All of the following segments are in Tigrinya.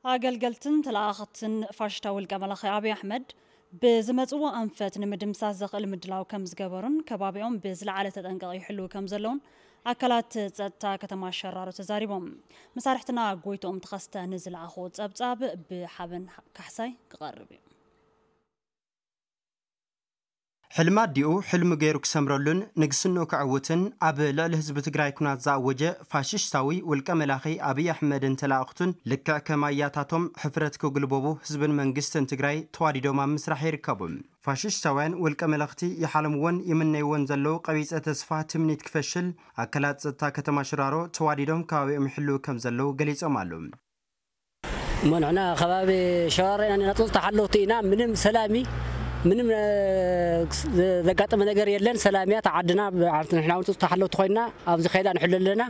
ኣገልገልትን ተለኣኸትን ፋሽስታዊ ውልቀ መላኺ ኣብይ ኣሕመድ ብዝመጽዎ ኣንፈት ንምድምሳስ ዘኽእል ምድላው ከም ዝገበሩን ከባቢኦም ብዝለዓለ ተጠንቀቕ ይሕልዉ ከም ዘለውን ኣካላት ጸጥታ ከተማ ሸራሮ ተዛሪቦም። መሳርሕትና ጎይትኦም ተኸስተ ንዝለኣኾ ጸብጻብ ብሓበን ካሕሳይ ክቐርብ እዩ። ሕልሚ ኣዲኡ ሕልሚ ገይሩ ክሰምረሉን ንግስንኡ ከዕውትን ኣብ ልዕሊ ህዝቢ ትግራይ ኩናት ዝኣወጀ ፋሽስታዊ ውልቀ መላኺ ኣብይ ኣሕመድን ተላእኽቱን ልክዕ ከም ኣያታቶም ሕፍረት ክግልበቡ ህዝብን መንግስትን ትግራይ ተዋዲዶም ኣብ ምስራሕ ይርከቡ። ፋሽስታውያን ውልቀ መለኽቲ ይሓለምዎን ይምነይዎን ዘለዉ ቀቢፀ ተስፋ ትምኒት ክፈሽል ኣካላት ፀጥታ ከተማ ሽራሮ ተዋዲዶም ከባቢኦም ይሕልዉ ከም ዘለዉ ገሊፆም ኣለዉ። እሞ ንሕና ከባቢ ሸራሮ ኢና ንነጥብ ተሓለውቲ ኢና። ምንም ሰላሚ ምንም እ፣ ዘጋጠመ ነገር የለን። ሰላም እያ እታ ዓድና። ንሕና እውን ተሓለውቲ ኮይና ኣብዚ ከይዳ ንሕሉ ኣለና።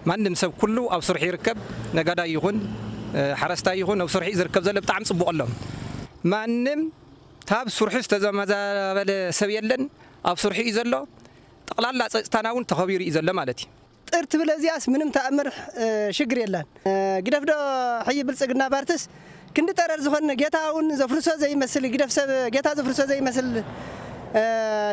ማንም ሰብ ኩሉ ኣብ ስርሑ ይርከብ። ነጋዳይ ይኹን እ፣ ሓረስታይ ይኹን ኣብ ስርሑ እዩ ዝርከብ ዘሎ። ብጣዕሚ ጽቡቕ ኣሎ። ማንም ታብ ስርሑ ዝተዘመዛበለ ሰብ የለን። ኣብ ስርሑ እዩ ዘሎ። ጠቕላላ ጸጥታና እውን ተኸቢሩ እዩ ዘሎ ማለት እዩ። ጥር ትብል እዚኣስ ምንም ተኣምር እ፣ ሽግር የላን። እ፣ ግደፍ ዶ ሕይ ብልጽግና ባርትስ ክንዲ ጠረር ዝኾነ ጌታ እውን ዘፍርሶ ዘይመስል ግደፍ ሰብ ጌታ ዘፍርሶ ዘይመስል እ፣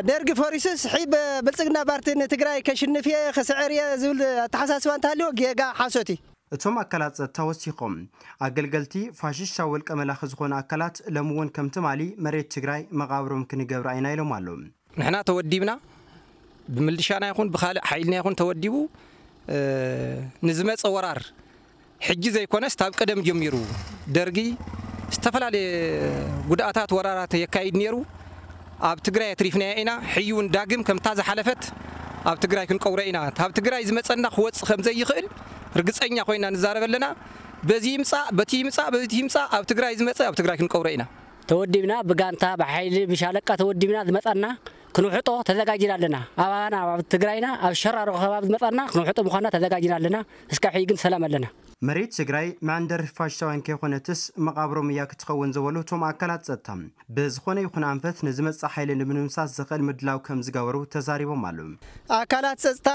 ደርጊ ፈሪሱስ ሕይ ብ- ብልጽግና ባርቲ ንትግራይ ከሽንፍ እየ ከስዕር እየ ዝብል ኣተሓሳስባ እንተሃልዎ ጌጋ ሓሶት እዩ። እቶም ኣካላት ጸጥታ ወሲኾም ኣገልገልቲ ፋሽስታዊ ውልቀ መላኺ ዝኾኑ ኣካላት ሎሚ እውን ከም ትማሊ መሬት ትግራይ መቓብሮም ክንገብራ ኢና ኢሎም ኣለዉ። ንሕና ተወዲብና ብምልሻና ይኹን ብኻልእ ሓይልና ይኹን ተወዲቡ እ፣ ንዝመፀ ወራር ሕጂ ዘይኮነስ ታብ ቀደም ጀሚሩ ደርጊ ዝተፈላለየ ጉድኣታት ወራራት የካይድ ነይሩ። ኣብ ትግራይ ኣትሪፍናዮ ኢና። ሕዩ እውን ዳግም ከምታ ዝሓለፈት ኣብ ትግራይ ክንቀብሮ ኢና። ካብ ትግራይ ዝመፀና ክወፅእ ከም ዘይኽእል ርግፀኛ ኮይና ንዛረብ ኣለና። በዚ ይምፃእ በቲ ይምፃእ በዚ ይምፃእ ኣብ ትግራይ ዝመፀ ኣብ ትግራይ ክንቀብሮ ኢና። ተወዲብና ብጋንታ ብሓይሊ ብሻለቃ ተወዲብና ዝመፃና ክንውሕጦ ተዘጋጅና ኣለና። ኣባና ኣብ ትግራይና ኣብ ሸራሮ ከባቢ ዝመፃና ክንውሕጦ ምዃንና ተዘጋጅና ኣለና። እስካብ ሕጂ ግን ሰላም ኣለና። መሬት ትግራይ መዕንደሪ ፋሽስታውያን ከይኾነትስ መቓብሮም እያ ክትኸውን ዝበሉ እቶም ኣካላት ጸጥታ፣ ብዝኾነ ይኹን ኣንፈት ንዝመጽእ ሓይሊ ንምድምሳስ ዘኽእል ምድላው ከም ዝገበሩ ተዛሪቦም ኣለዉ። ኣካላት ጸጥታ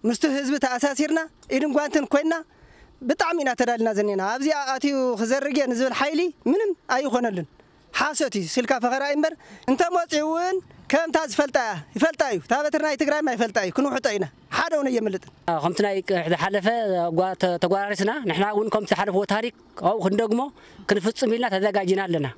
ምስቲ ህዝቢ ተኣሳሲርና ኢድን ጓንትን ኮይንና ብጣዕሚ ኢና ተዳሊና ዘኔና። ኣብዚኣ ኣትዩ ክዘርግ እየ ንዝብል ሓይሊ ምንም ኣይኾነሉን። ሓሶት እዩ ስልካ ፈኸራ እዩ እምበር እንተመፂኡ እውን ከምታ ዝፈልጣ እያ ይፈልጣ እዩ። እታ በትሪ ናይ ትግራይማ ይፈልጣ እዩ ክንውሕጦ ኢና። ሓደ እውን ኣየምልጥን። ከምቲ ናይ ዝሓለፈ ተጓራሪስና ንሕና እውን ከምቲ ዝሓለፍዎ ታሪክ ኣብኡ ክንደግሞ ክንፍፅም ኢልና ተዘጋጅና ኣለና።